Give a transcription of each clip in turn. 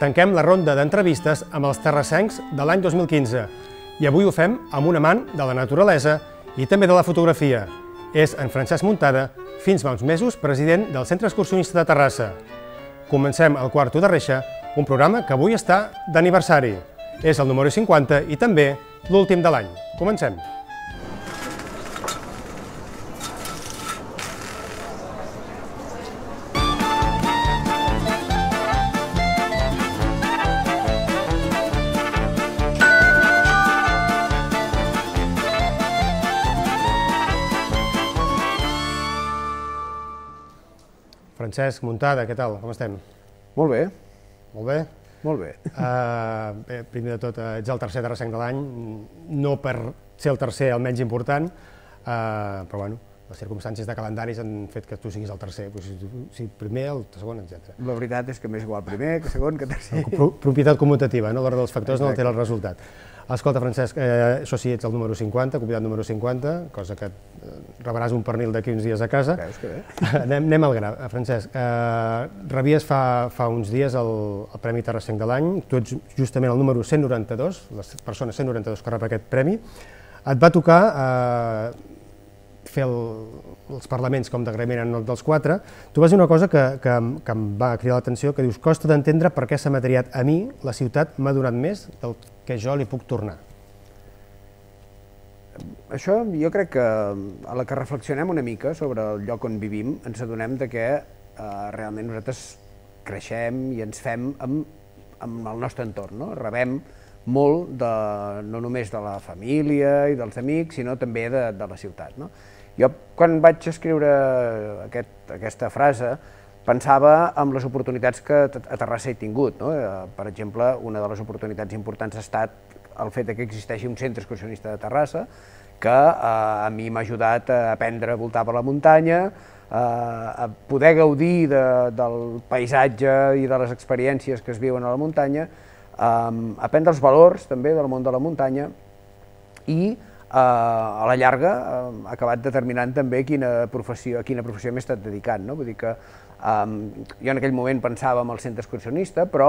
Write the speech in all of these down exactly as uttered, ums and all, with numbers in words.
Tanquem la ronda d'entrevistes amb els terrassencs de l'any dos mil quinze i avui ho fem amb un amant de la naturalesa i també de la fotografia. És en Francesc Muntada, fins fa uns mesos president del Centre Excursionista de Terrassa. Comencem el Quarto de Reixa, un programa que avui està d'aniversari. És el número cinquanta i també l'últim de l'any. Comencem. Francesc Muntada, què tal? Com estem? Molt bé. Molt bé? Molt bé. Uh, bé, primer de tot, uh, ets el tercer terrassenc de l'any, no per ser el tercer el menys important, uh, però bueno, les circumstàncies de calendaris han fet que tu siguis el tercer, però si, si primer, el segon, etcètera. La veritat és que m'és igual primer, que segon, que tercer. Pro propietat commutativa, no? L'ordre dels factors Exacte. No altera el resultat. Escolta, Francesc, eh, això sí, ets el número cinquanta, convidat número cinquanta, cosa que eh, rebràs un pernil d'aquí uns dies a casa. Veus que bé. anem, anem al gra, Francesc. Eh, rebies fa, fa uns dies el, el Premi Terrassenc de l'any, tu ets justament el número cent noranta-dos, les persones cent noranta-dos que rep aquest premi. Et va tocar eh, fer el, els parlaments com d'agraïment en el dels quatre. Tu vas dir una cosa que, que, que em va cridar l'atenció, que dius, costa d'entendre per què s'ha materiat a mi, la ciutat m'ha donat més del que jo li puc tornar. Això jo crec que a la que reflexionem una mica sobre el lloc on vivim ens adonem de que eh, realment nosaltres creixem i ens fem amb, amb el nostre entorn, no? Rebem molt de, no només de la família i dels amics, sinó també de, de la ciutat, no? Jo, quan vaig escriure aquest, aquesta frase, pensava en les oportunitats que a Terrassa he tingut, no? Per exemple, una de les oportunitats importants ha estat el fet que existeixi un centre excursionista de Terrassa, que eh, a mi m'ha ajudat a aprendre a voltar per la muntanya, eh, a poder gaudir de, del paisatge i de les experiències que es viuen a la muntanya, eh, aprendre els valors també del món de la muntanya i Uh, a la llarga uh, ha acabat determinant també quina professió, a quina professió m'he estat dedicant, no? Vull dir que um, jo en aquell moment pensava en el centre excursionista, però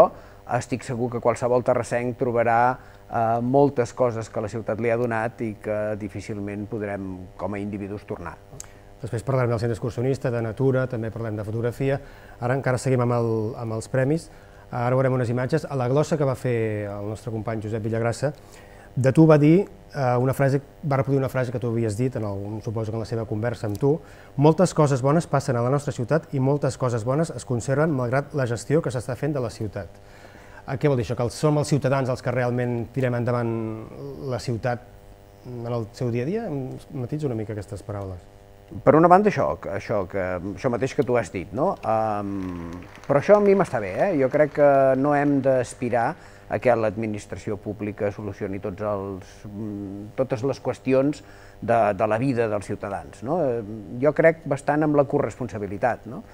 estic segur que qualsevol terrassenc trobarà uh, moltes coses que la ciutat li ha donat i que difícilment podrem com a individus tornar. Després parlarem del centre excursionista, de natura, també parlem de fotografia. Ara encara seguim amb, el, amb els premis. Ara veurem unes imatges. A la glossa que va fer el nostre company Josep Villagrassa, de tu va dir eh, una frase, va reproduir una frase que tu havies dit, en el, suposo que en la seva conversa amb tu: moltes coses bones passen a la nostra ciutat i moltes coses bones es conserven malgrat la gestió que s'està fent de la ciutat. Eh, què vol dir això? Que som els ciutadans els que realment tirem endavant la ciutat en el seu dia a dia? Matitza una mica aquestes paraules. Per una banda, això, això, que, això mateix que tu has dit, no? Um, però això a mi m'està bé, eh? Jo crec que no hem d'aspirar a que l'administració pública solucioni tots els, totes les qüestions de, de la vida dels ciutadans, no? Jo crec bastant amb la corresponsabilitat, no?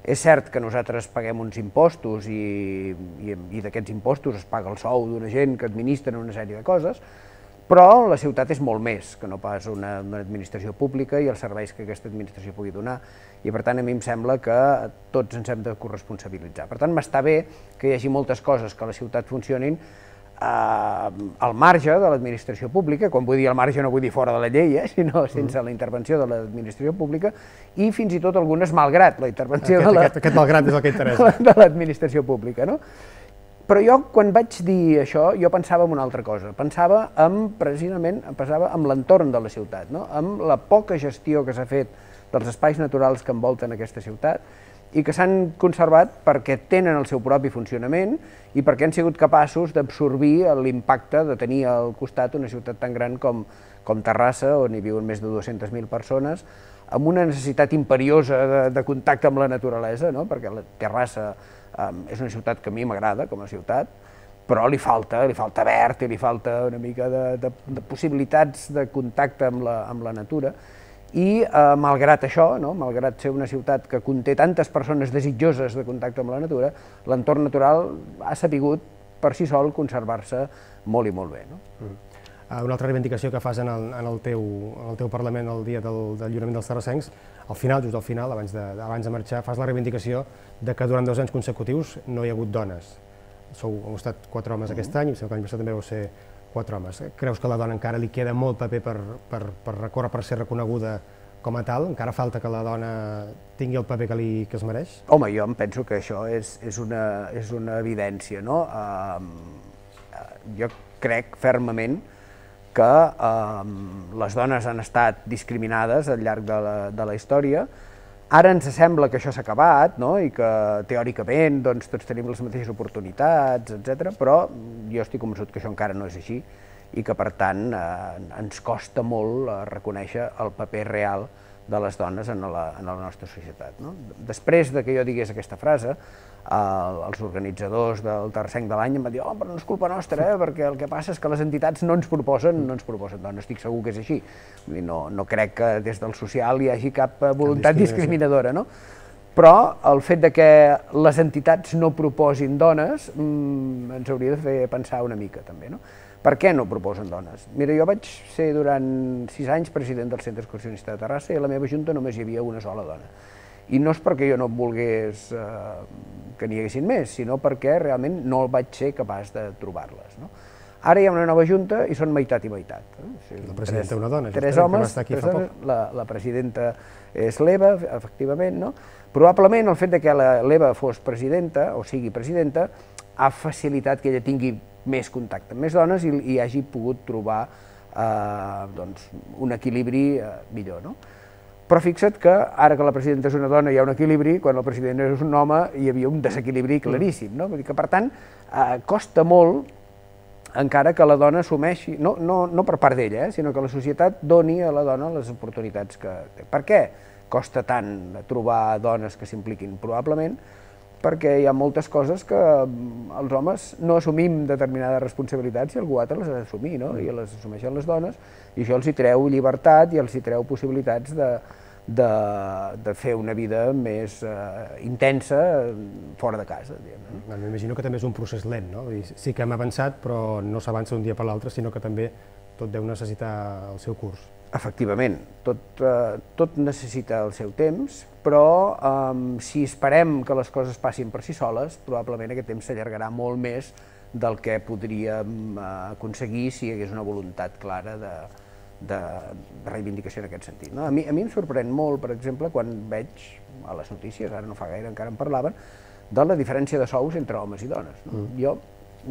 És cert que nosaltres paguem uns impostos i, i, i d'aquests impostos es paga el sou d'una gent que administren una sèrie de coses, però la ciutat és molt més que no pas una, una administració pública i els serveis que aquesta administració pugui donar. I per tant a mi em sembla que tots ens hem de corresponsabilitzar. Per tant m'està bé que hi hagi moltes coses que a la ciutat funcionin eh, al marge de l'administració pública, quan vull dir al marge no vull dir fora de la llei, eh, sinó sense la intervenció de l'administració pública, i fins i tot algunes malgrat la intervenció aquest, de la, aquest, aquest malgrat és el que interessa. de l'administració pública, no? Però jo, quan vaig dir això, jo pensava en una altra cosa. Pensava en, precisament, pensava en l'entorn de la ciutat, no? En la poca gestió que s'ha fet dels espais naturals que envolten aquesta ciutat i que s'han conservat perquè tenen el seu propi funcionament i perquè han sigut capaços d'absorbir l'impacte de tenir al costat una ciutat tan gran com, com Terrassa, on hi viuen més de dues-centes mil persones, amb una necessitat imperiosa de, de contacte amb la naturalesa, no? Perquè la Terrassa Um, és una ciutat que a mi m'agrada com a ciutat, però li falta, li falta verd i li falta una mica de, de, de possibilitats de contacte amb la, amb la natura i eh, malgrat això, no? Malgrat ser una ciutat que conté tantes persones desitjoses de contacte amb la natura, l'entorn natural ha sabut per si sol conservar-se molt i molt bé, no? Mm. Una altra reivindicació que fas en el, en el, teu, en el teu Parlament el dia del, del lliurament dels terrassencs, al final, just al final, abans de, abans de marxar, fas la reivindicació de que durant dos anys consecutius no hi ha hagut dones. sou, heu estat quatre homes aquest any, i el que l'any passat també vau ser quatre homes. Creus que a la dona encara li queda molt paper per, per, per recórrer, per ser reconeguda com a tal? Encara falta que la dona tingui el paper que, li, que es mereix? Home, jo em penso que això és, és, una, és una evidència, no? Uh, jo crec fermament que uh, les dones han estat discriminades al llarg de la, de la història. Ara ens sembla que això s'ha acabat, no? I que teòricament doncs, tots tenim les mateixes oportunitats, etcètera, però jo estic convençut que això encara no és així i que, per tant, eh, ens costa molt reconèixer el paper real de les dones en la, en la nostra societat. No? Després de que jo digués aquesta frase, eh, els organitzadors del Tercer de l'any em van dir oh, però no és culpa nostra, eh, perquè el que passa és que les entitats no ens proposen, no ens proposen dones, estic segur que és així. No, no crec que des del social hi hagi cap voluntat discriminadora, no? Però el fet de que les entitats no proposin dones mmm, ens hauria de fer pensar una mica també, no? Per què no proposen dones? Mira, jo vaig ser durant sis anys president del Centre Excursionista de Terrassa i a la meva junta només hi havia una sola dona. I no és perquè jo no volgués eh, que n'hi haguessin més, sinó perquè realment no vaig ser capaç de trobar-les. No? Ara hi ha una nova junta i són meitat i meitat. Eh? O sigui, la presidenta és una dona, tres homes, aquí fa poc. La, la presidenta és l'Eva, efectivament, no? Probablement el fet de que l'Eva fos presidenta, o sigui presidenta, ha facilitat que ella tingui més contacte amb més dones i, i hagi pogut trobar eh, doncs, un equilibri eh, millor. No? Però fixa't que ara que la presidenta és una dona hi ha un equilibri, quan el president és un home hi havia un desequilibri claríssim. No? Vull dir que, per tant, eh, costa molt encara que la dona assumeixi, no, no, no per part d'ella, eh, sinó que la societat doni a la dona les oportunitats que té. Per què costa tant trobar dones que s'impliquin? Probablement perquè hi ha moltes coses que els homes no assumim determinades responsabilitats i algú altre les ha d'assumir, no? I les assumeixen les dones, i això els hi treu llibertat i els hi treu possibilitats de, de, de fer una vida més eh, intensa fora de casa. No? M'imagino que també és un procés lent, no? Sí que hem avançat, però no s'avança d'un dia per l'altre, sinó que també tot deu necessitar el seu curs. Efectivament, tot, eh, tot necessita el seu temps, però eh, si esperem que les coses passin per si soles, probablement aquest temps s'allargarà molt més del que podríem eh, aconseguir si hi hagués una voluntat clara de, de, de reivindicació en aquest sentit. No? A mi, a mi em sorprèn molt, per exemple, quan veig a les notícies, ara no fa gaire, encara en parlaven, de la diferència de sous entre homes i dones. No? Mm. Jo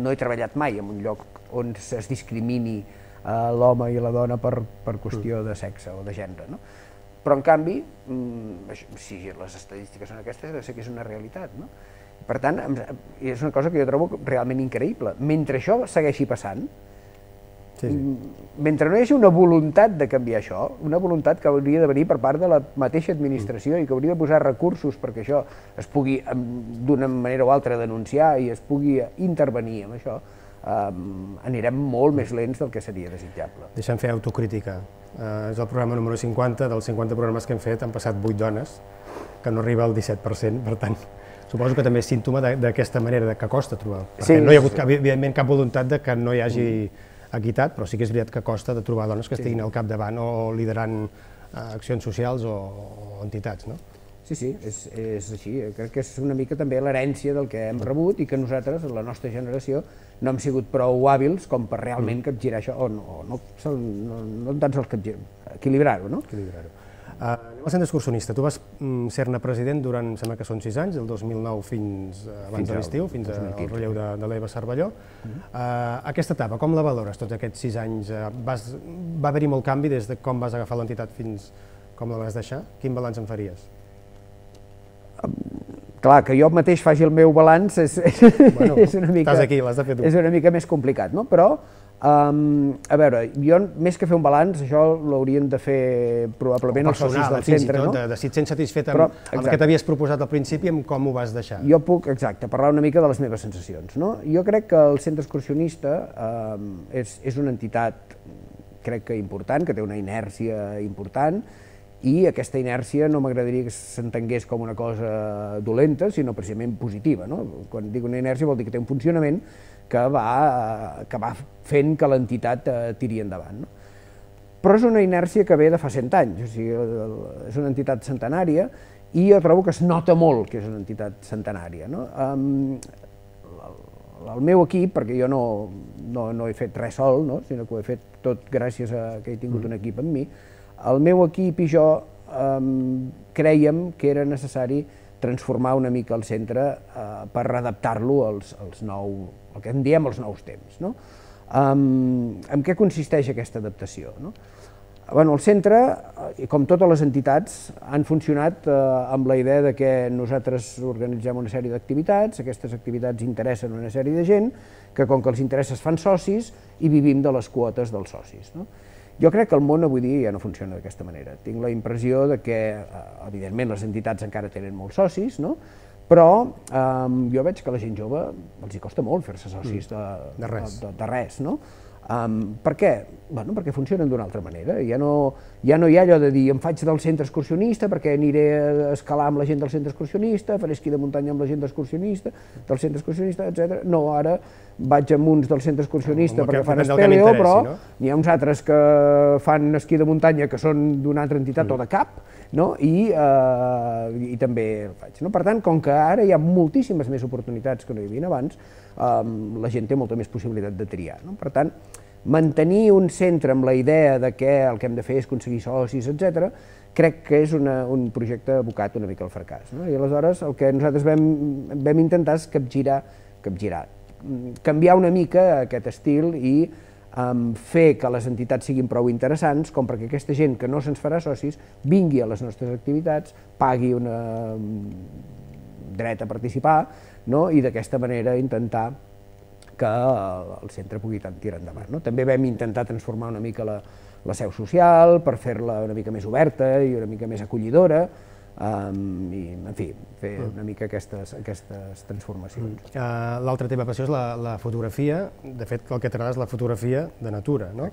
no he treballat mai en un lloc on es discrimini l'home i la dona per, per qüestió de sexe o de gènere. No? Però, en canvi, si les estadístiques són aquestes, deu ser que és una realitat. No? Per tant, és una cosa que jo trobo realment increïble. Mentre això segueixi passant, sí, sí. mentre no hi hagi una voluntat de canviar això, una voluntat que hauria de venir per part de la mateixa administració mm. i que hauria de posar recursos perquè això es pugui, d'una manera o altra, denunciar i es pugui intervenir en això, Um, anirem molt més lents del que seria desitjable. Deixa'm fer autocrítica. Uh, és el programa número cinquanta, dels cinquanta programes que hem fet han passat vuit dones, que no arriba al disset per cent, per tant, suposo que també és símptoma d'aquesta manera que costa trobar. Perquè sí, no hi ha hagut, sí. evidentment, cap voluntat de que no hi hagi equitat, però sí que és veritat que costa de trobar dones que estiguin sí. al capdavant o liderant uh, accions socials o, o entitats, no? Sí, sí, és, és així. Crec que és una mica també l'herència del que hem rebut i que nosaltres, la nostra generació, no hem sigut prou hàbils com per realment capgirar això, o no, no, no, no tan sols capgirar, equilibrar-ho, no? Equilibrar-ho. Uh, anem al centre excursionista. Tu vas mm, ser-ne president durant, sembla que són sis anys, del dos mil nou fins uh, abans fins de l'estiu, fins al relleu de, de l'Eva Cervelló. Uh, aquesta etapa, com la valores, tots aquests sis anys? Uh, vas, va haver-hi molt canvi des de com vas agafar l'entitat fins com la vas deixar? Quin balanç en faries? Clar, que jo mateix faci el meu balanç és, bueno, és, una, mica, aquí, de fer tu. és una mica més complicat, no? Però, um, a veure, jo més que fer un balanç, això l'haurien de fer probablement els socis del centre, no? De si et sents satisfet amb, amb el que t'havies proposat al principi, amb com ho vas deixar. Jo puc, exacte, parlar una mica de les meves sensacions, no? Jo crec que el centre excursionista um, és, és una entitat, crec que important, que té una inèrcia important, i aquesta inèrcia no m'agradaria que s'entengués com una cosa dolenta, sinó precisament positiva. No? Quan dic una inèrcia vol dir que té un funcionament que va, que va fent que l'entitat tiri endavant. No? Però és una inèrcia que ve de fa cent anys, o sigui, és una entitat centenària i jo trobo que es nota molt que és una entitat centenària. No? Um, el meu equip, perquè jo no, no, no he fet res sol, no? Sinó que ho he fet tot gràcies a que he tingut un equip amb mi, el meu equip i jo eh, crèiem que era necessari transformar una mica el centre eh, per readaptar-lo als, als nou, el que en diem els nous temps. No? Um, en què consisteix aquesta adaptació? No? Bueno, el centre, com totes les entitats, han funcionat eh, amb la idea de que nosaltres organitzem una sèrie d'activitats, aquestes activitats interessen una sèrie de gent, que com que els interessos fan socis i vivim de les quotes dels socis. No? Jo crec que el món avui dia ja no funciona d'aquesta manera. Tinc la impressió de que, evidentment, les entitats encara tenen molts socis, no? Però eh, jo veig que a la gent jove els hi costa molt fer-se socis de, de res. De, de res, no? Um, per què? Bueno, perquè funcionen d'una altra manera. Ja no, ja no hi ha allò de dir em faig del centre excursionista perquè aniré a escalar amb la gent del centre excursionista, faré esquí de muntanya amb la gent excursionista, del centre excursionista, etcètera. No, ara vaig amb uns del centre excursionista perquè fan espeleo, però n'hi ha uns altres que fan esquí de muntanya que són d'una altra entitat o de cap, no? I, eh, i també el faig. No? Per tant, com que ara hi ha moltíssimes més oportunitats que no hi havia abans, eh, la gent té molta més possibilitat de triar. No? Per tant, mantenir un centre amb la idea de que el que hem de fer és aconseguir socis, etcètera, crec que és una, un projecte abocat una mica al fracàs. No? I aleshores el que nosaltres vam, vam intentar és capgirar, capgirar, canviar una mica aquest estil i um, fer que les entitats siguin prou interessants com perquè aquesta gent que no se'ns farà socis vingui a les nostres activitats, pagui un dret a participar, no? I d'aquesta manera intentar que el centre pugui tirar endavant. No? També vam intentar transformar una mica la, la seu social per fer-la una mica més oberta i una mica més acollidora, um, i, en fi, fer una mica aquestes, aquestes transformacions. Uh, L'altra teva passió és la, la fotografia. De fet, el que t'agrada és la fotografia de natura, no?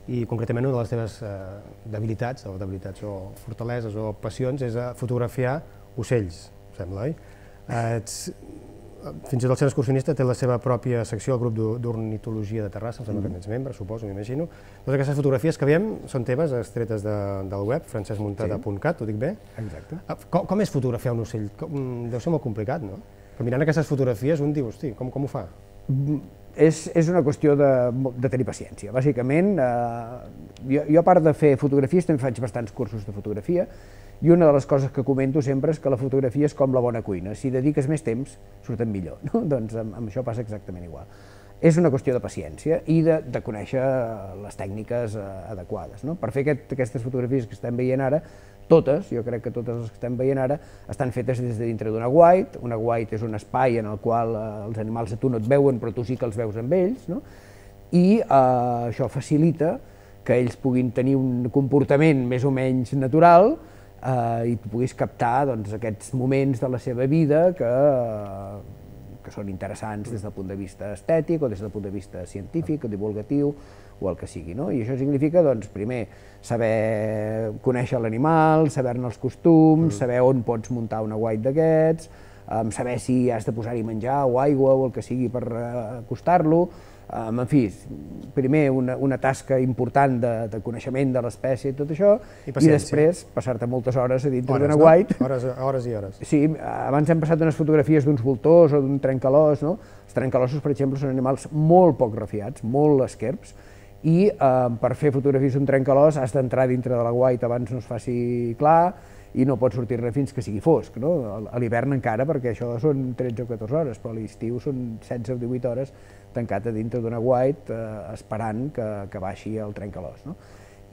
I concretament una de les teves uh, debilitats, o debilitats o fortaleses o passions és uh, fotografiar ocells, sembla, oi? Uh, ets, fins i tot el centre excursionista té la seva pròpia secció, el grup d'ornitologia de Terrassa, em sembla que n'ets membre, suposo, m'imagino. Totes aquestes fotografies que veiem són teves, extretes de, del web, francesc muntada punt cat, ho dic bé? Exacte. Com, com és fotografiar un ocell? Com, deu ser molt complicat, no? Però mirant aquestes fotografies un diu, hosti, com, com ho fa? És, és una qüestió de, de tenir paciència. Bàsicament, eh, jo, jo a part de fer fotografies també faig bastants cursos de fotografia, i una de les coses que comento sempre és que la fotografia és com la bona cuina. Si dediques més temps, surten millor. No? Doncs amb, amb això passa exactament igual. És una qüestió de paciència i de, de conèixer les tècniques eh, adequades. No? Per fer aquest, aquestes fotografies que estem veient ara, totes, jo crec que totes les que estem veient ara, estan fetes des de dintre d'una white. Una white és un espai en el qual eh, els animals a tu no et veuen, però tu sí que els veus amb ells. No? I eh, això facilita que ells puguin tenir un comportament més o menys natural, Uh, i tu puguis captar doncs, aquests moments de la seva vida que, uh, que són interessants des del punt de vista estètic o des del punt de vista científic o divulgatiu o el que sigui. No? I això significa, doncs, primer, saber conèixer l'animal, saber-ne els costums, mm. saber on pots muntar una white d'aquests, um, saber si has de posar-hi menjar o aigua o el que sigui per uh, acostar-lo. Um, en fi, primer una, una tasca important de, de coneixement de l'espècie i tot això, i, i després passar-te moltes hores a dintre d'una white. No? Hores, hores i hores. Sí, abans hem passat unes fotografies d'uns voltors o d'un trencalòs, no? Els trencalossos, per exemple, són animals molt poc refiats, molt esquerps, i eh, per fer fotografies d'un trencalòs has d'entrar dintre de la white abans no es faci clar i no pots sortir-ne fins que sigui fosc, no? A l'hivern encara, perquè això són tretze o catorze hores, però a l'estiu són setze o divuit hores tancat a dintre d'una white eh, esperant que, que baixi el trencalòs. No?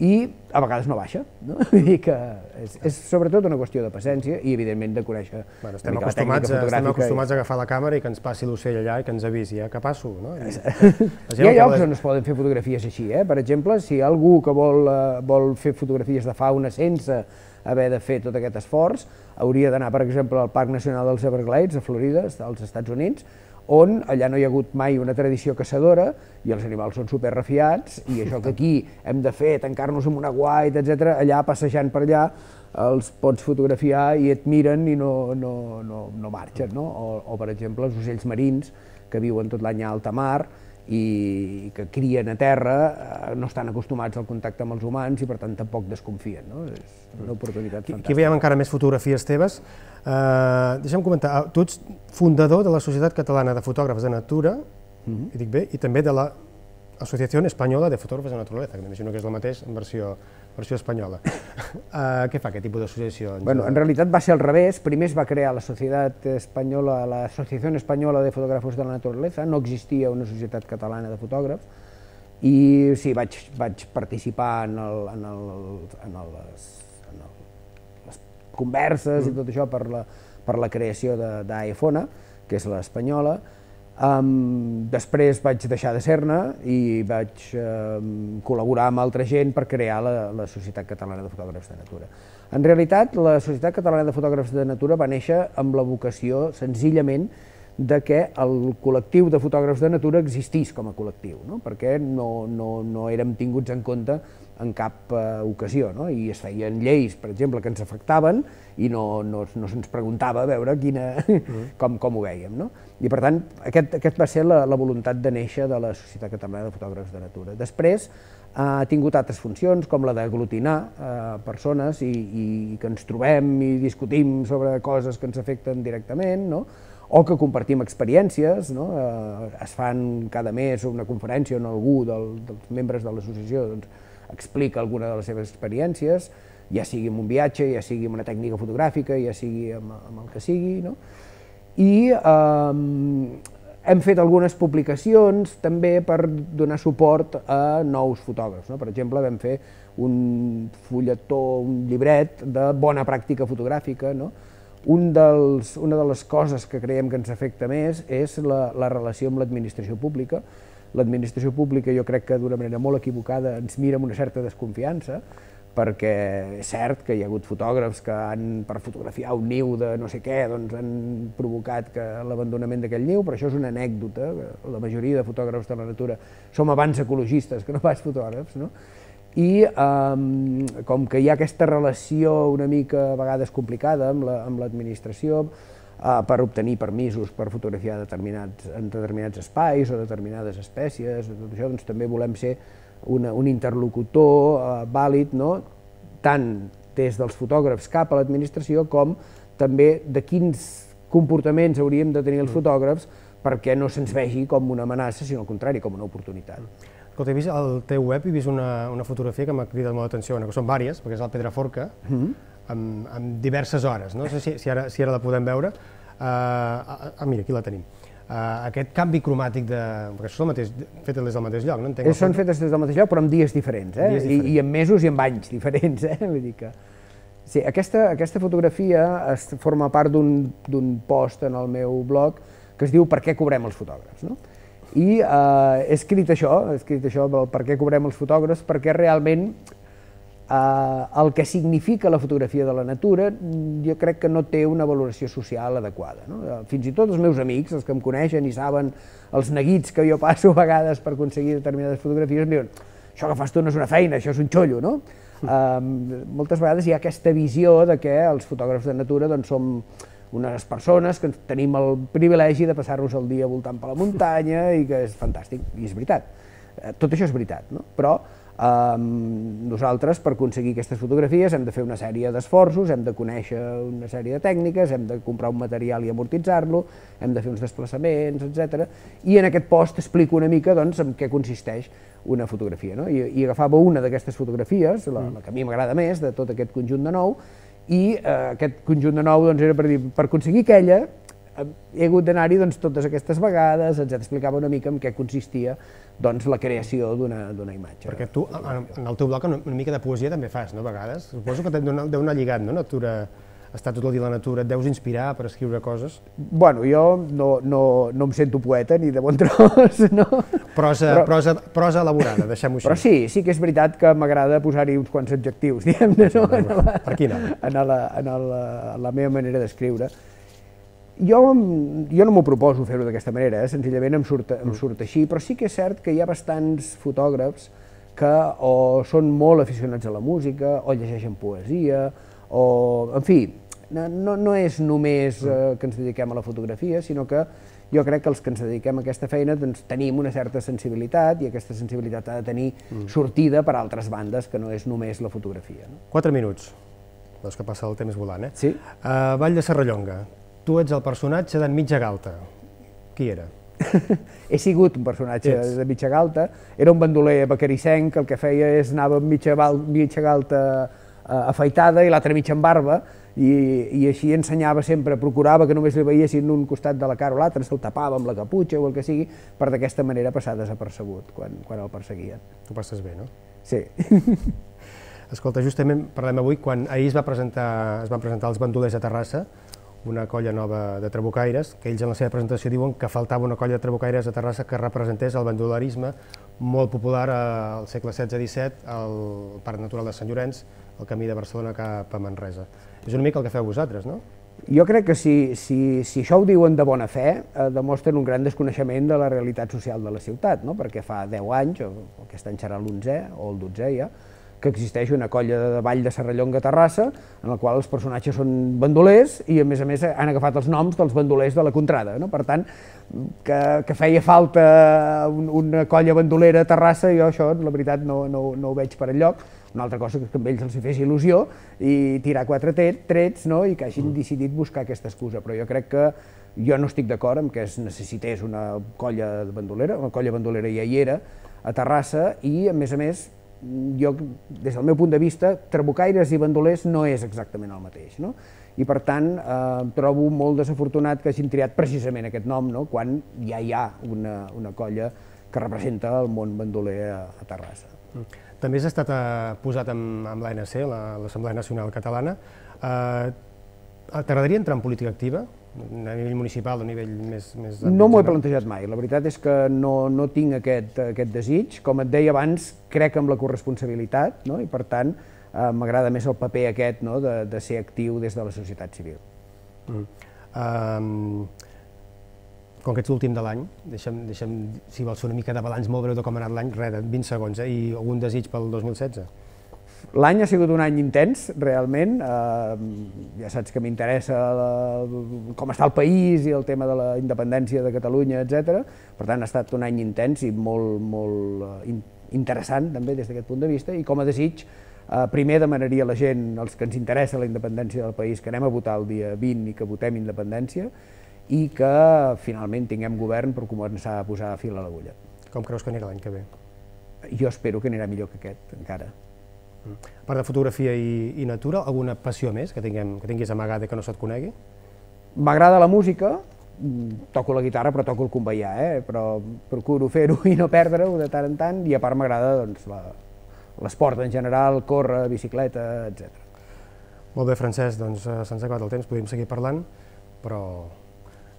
I a vegades no baixa, no? Vull dir que és, és sobretot una qüestió de paciència i evidentment de conèixer bueno, estem una mica la tècnica fotogràfica. Estem acostumats i... a agafar la càmera i que ens passi l'ocell allà i que ens avisi, ja que passo. No? I... Hi ha llocs on es poden fer fotografies així, eh? Per exemple, si hi ha algú que vol, uh, vol fer fotografies de fauna sense haver de fer tot aquest esforç, hauria d'anar, per exemple, al Parc Nacional dels Everglades, a Florida, als Estats Units, on allà no hi ha hagut mai una tradició caçadora i els animals són superrefiats i això que aquí hem de fer, tancar-nos en una white, etcètera, allà passejant per allà els pots fotografiar i et miren i no, no, no, no marxen, no? O, o per exemple els ocells marins que viuen tot l'any a alta mar i que crien a terra no estan acostumats al contacte amb els humans i per tant tampoc desconfien. És una oportunitat fantàstica. Aquí veiem encara més fotografies teves. Deixa'm comentar, tu ets fundador de la Societat Catalana de Fotògrafs de Natura, i dic bé, i també de l'Associació Espanyola de Fotògrafs de Naturaleza, que m'imagino que és el mateix en versió espanyola. Què fa aquest tipus d'associació? En realitat va ser al revés. Primer es va crear la Societat Espanyola, l'Associació Espanyola de Fotògrafs de la Naturaleza, no existia una societat catalana de fotògrafs, i sí, vaig participar en les converses i tot això per la creació d'AEFONA, que és l'espanyola. Després vaig deixar de ser-ne i vaig col·laborar amb altra gent per crear la Societat Catalana de Fotògrafs de Natura. En realitat, la Societat Catalana de Fotògrafs de Natura va néixer amb la vocació, senzillament, de que el col·lectiu de fotògrafs de natura existís com a col·lectiu, perquè no érem tinguts en compte en cap ocasió, i es feien lleis, per exemple, que ens afectaven i no se'ns preguntava a veure com ho vèiem. I per tant, aquesta va ser la voluntat de néixer de la Societat Catalana de Fotògrafs de Natura. Després ha tingut altres funcions, com la d'aglutinar persones i que ens trobem i discutim sobre coses que ens afecten directament, o que compartim experiències. Es fan cada mes una conferència on algú dels membres de l'associació explica alguna de les seves experiències, ja sigui en un viatge, ja sigui en una tècnica fotogràfica, ja sigui amb el que sigui. I hem fet algunes publicacions també per donar suport a nous fotògrafs. Per exemple, vam fer un fulletó, un llibret de bona pràctica fotogràfica. Una de les coses que creiem que ens afecta més és la relació amb l'administració pública. L'administració pública, jo crec que d'una manera molt equivocada ens mira amb una certa desconfiança, perquè és cert que hi ha hagut fotògrafs que per fotografiar un niu de no sé què han provocat l'abandonament d'aquell niu, però això és una anècdota. La majoria de fotògrafs de la natura som abans ecologistes que no pas fotògrafs, i com que hi ha aquesta relació una mica a vegades complicada amb l'administració per obtenir permisos per fotografiar en determinats espais o determinades espècies, doncs també volem ser un interlocutor vàlid tant des dels fotògrafs cap a l'administració com també de quins comportaments hauríem de tenir els fotògrafs perquè no se'ns vegi com una amenaça, sinó al contrari, com una oportunitat. Escolta, he vist al teu web, he vist una fotografia que m'ha cridat molt l'atenció, que són diverses, perquè és el Pedraforca, amb diverses hores, no sé si ara la podem veure. Ah, mira, aquí la tenim. Aquest canvi cromàtic, perquè són fetes des del mateix lloc, no? Són fetes des del mateix lloc, però en dies diferents, i en mesos i en anys diferents. Aquesta fotografia forma part d'un post en el meu blog que es diu Per què cobrem els fotògrafs? I he escrit això, he escrit això del per què cobrem els fotògrafs, perquè realment el que significa la fotografia de la natura jo crec que no té una valoració social adequada. Fins i tot els meus amics, els que em coneixen i saben els neguits que jo passo a vegades per aconseguir determinades fotografies, em diuen això que fas tu no és una feina, això és un xollo, no? Moltes vegades hi ha aquesta visió de que els fotògrafs de natura som unes persones que tenim el privilegi de passar-nos el dia voltant per la muntanya i que és fantàstic, i és veritat. Tot això és veritat, però nosaltres, per aconseguir aquestes fotografies, hem de fer una sèrie d'esforços, hem de conèixer una sèrie de tècniques, hem de comprar un material i amortitzar-lo, hem de fer uns desplaçaments, etcètera. I en aquest post explico una mica en què consisteix una fotografia. I agafava una d'aquestes fotografies, la que a mi m'agrada més, de tot aquest conjunt de nou, i aquest conjunt de nou era per dir, per aconseguir aquella, he hagut d'anar-hi totes aquestes vegades, ens explicava una mica en què consistia la creació d'una imatge. Perquè tu, en el teu blog, una mica de poesia també fas, no, a vegades? Suposo que deu anar lligat, no? Estar tot el dia a la natura, et deus inspirar per escriure coses? Bueno, jo no em sento poeta ni de bon tros, no? Prosa elaborada, deixem-ho així. Però sí, sí que és veritat que m'agrada posar-hi uns quants adjectius, diguem-ne, no? Per quina? En la meva manera d'escriure. Jo no m'ho proposo fer-ho d'aquesta manera, senzillament em surt així, però sí que és cert que hi ha bastants fotògrafs que o són molt aficionats a la música, o llegeixen poesia, o, en fi, no és només que ens dediquem a la fotografia, sinó que jo crec que els que ens dediquem a aquesta feina doncs, tenim una certa sensibilitat i aquesta sensibilitat ha de tenir mm. sortida per altres bandes, que no és només la fotografia. No? Quatre minuts. Veus que passa el temps volant, eh? Sí. Uh, Vall de Serrallonga. Tu ets el personatge d'en Mitja Galta. Qui era? He sigut un personatge Ets. de Mitja Galta. Era un bandoler bacarissenc que el que feia és anava amb mitja, mitja galta uh, afaitada i l'altra mitja amb barba i, i així ensenyava sempre, procurava que només li veiessin un costat de la cara o l'altre, se'l tapava amb la caputxa o el que sigui, per d'aquesta manera passar desapercebut quan, quan el perseguien. Tu passes bé, no? Sí. Escolta, justament parlem avui quan ahir es, va presentar, es van presentar els bandolers a Terrassa, una colla nova de trabucaires, que ells en la seva presentació diuen que faltava una colla de trabucaires a Terrassa que representés el bandolerisme molt popular al segle setze disset, al Parc Natural de Sant Llorenç, el camí de Barcelona cap a Manresa. És una mica el que feu vosaltres, no? Jo crec que si, si, si això ho diuen de bona fe, eh, demostren un gran desconeixement de la realitat social de la ciutat, no? Perquè fa deu anys, o aquest any serà l'onzè o el dotzè ja, que existeix una colla de Vall de Serrallonga a Terrassa, en la qual els personatges són bandolers i, a més a més, han agafat els noms dels bandolers de la contrada. No? Per tant, que, que feia falta un, una colla bandolera a Terrassa, jo això, la veritat, no, no, no ho veig per enlloc. Una altra cosa que a ells els fes il·lusió i tirar quatre trets, no? I que hagin decidit buscar aquesta excusa. Però jo crec que jo no estic d'acord amb que es necessités una colla bandolera, una colla bandolera ja hi era a Terrassa i, a més a més, jo, des del meu punt de vista, trabucaires i bandolers no és exactament el mateix, no? I per tant, eh, trobo molt desafortunat que hagin triat precisament aquest nom, no? Quan ja hi ha una, una colla que representa el món bandoler a, a Terrassa. També has estat eh, posat amb, amb l'A N C, l'Assemblea Nacional Catalana. Eh, T'agradaria entrar en política activa? A nivell municipal o a nivell més... més no m'ho he plantejat mai, la veritat és que no, no tinc aquest, aquest desig. Com et deia abans, crec en la corresponsabilitat, no? I per tant eh, m'agrada més el paper aquest, no? de, de ser actiu des de la societat civil. Mm. Um, com que ets l'últim de l'any, deixa'm, deixa'm, si vols fer una mica de balanç molt breu de com ha anat l'any, res, vint segons, eh? I algun desig pel dos mil setze? L'any ha sigut un any intens, realment. Eh, ja saps que m'interessa com està el país i el tema de la independència de Catalunya, etcètera. Per tant, ha estat un any intens i molt, molt interessant, també, des d'aquest punt de vista. I com a desig, eh, primer demanaria a la gent, els que ens interessa la independència del país, que anem a votar el dia vint i que votem independència, i que finalment tinguem govern per començar a posar fil a l'agulla. Com creus que anirà l'any que ve? Jo espero que anirà millor que aquest, encara. A part de fotografia i, i natura, alguna passió més que, tinguem, que tinguis amagada i que no se't conegui? M'agrada la música, toco la guitarra però toco el conveià, eh? Però procuro fer-ho i no perdre-ho de tant en tant, i a part m'agrada doncs, l'esport en general, córrer, bicicleta, etcètera. Molt bé, Francesc, doncs se'ns ha acabat el temps, podríem seguir parlant, però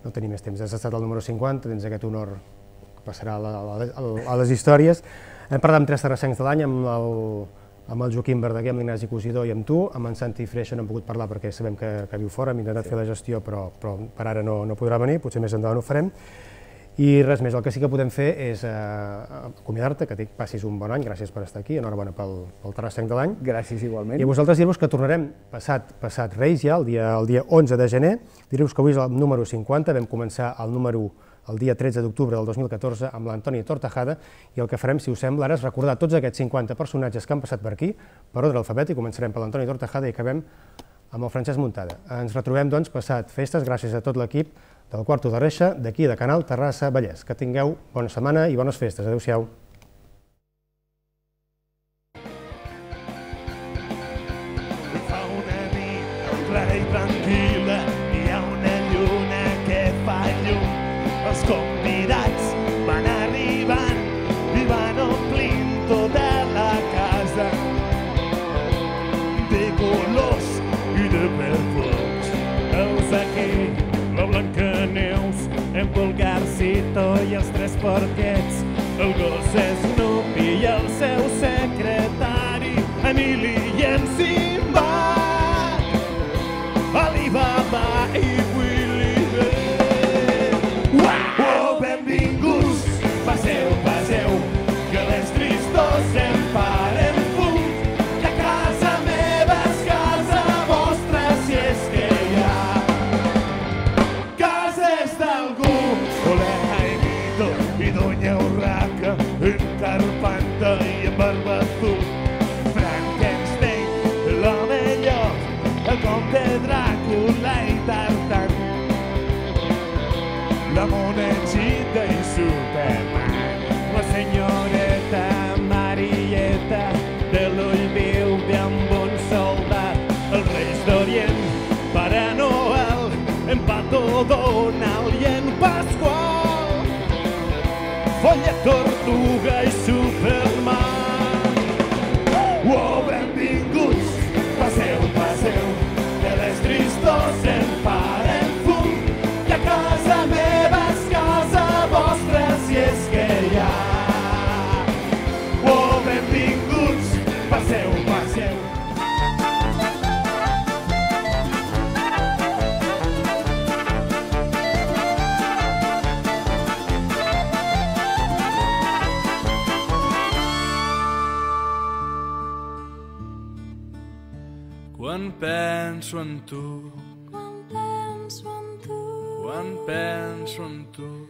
no tenim més temps. Has estat el número cinquanta, tens aquest honor que passarà a, la, a, a les històries. Hem parlat amb tres terrassencs de l'any, amb el amb el Joaquim Verdaguer, amb l'Ignasi Cosidor i amb tu. Amb en Santi Freixa no hem pogut parlar perquè sabem que, que viu fora, hem intentat sí. fer la gestió, però, però per ara no, no podrà venir, potser més endavant ho farem. I res més, el que sí que podem fer és eh, acomiadar-te, que passis un bon any, gràcies per estar aquí, enhorabona pel, pel terrassenc de l'any. Gràcies igualment. I a vosaltres dir-vos que tornarem passat, passat Reis ja, el dia, el dia onze de gener, dir-vos que avui és el número cinquanta, vam començar el número el dia tretze d'octubre del dos mil catorze amb l'Antoni Tortajada, i el que farem, si us sembla, ara és recordar tots aquests cinquanta personatges que han passat per aquí, per ordre alfabètic. Començarem per l'Antoni Tortajada i acabem amb el Francesc Muntada. Ens retrobem, doncs, passat festes, gràcies a tot l'equip del Quarto de Reixa, d'aquí de Canal Terrassa Vallès. Que tingueu bona setmana i bones festes. Adéu-siau. Fa una nit clara i tranquil·la, hi ha una lluna que fa llum. Els convidats van arribant i van omplint tota la casa de colors i de perfums. Heus aquí la Blancaneus, en Pulgarcito i els tres porquets, el gos Snoopy i el seu secretari, Emili i en Simbad, Alibaba i Willy. Oh, benvinguts, passeu, passeu, que les tristors em paren fum, que casa meva és casa vostra, si és que hi ha cases d'algú. Follet, Tortuga i Superman. Oh, benvinguts, passeu, passeu, que les tristors en paren fum, i a casa meva és casa vostra si és que hi ha. Oh, benvinguts, passeu, passeu. Quan penso en tu, quan penso en tu, quan penso en tu,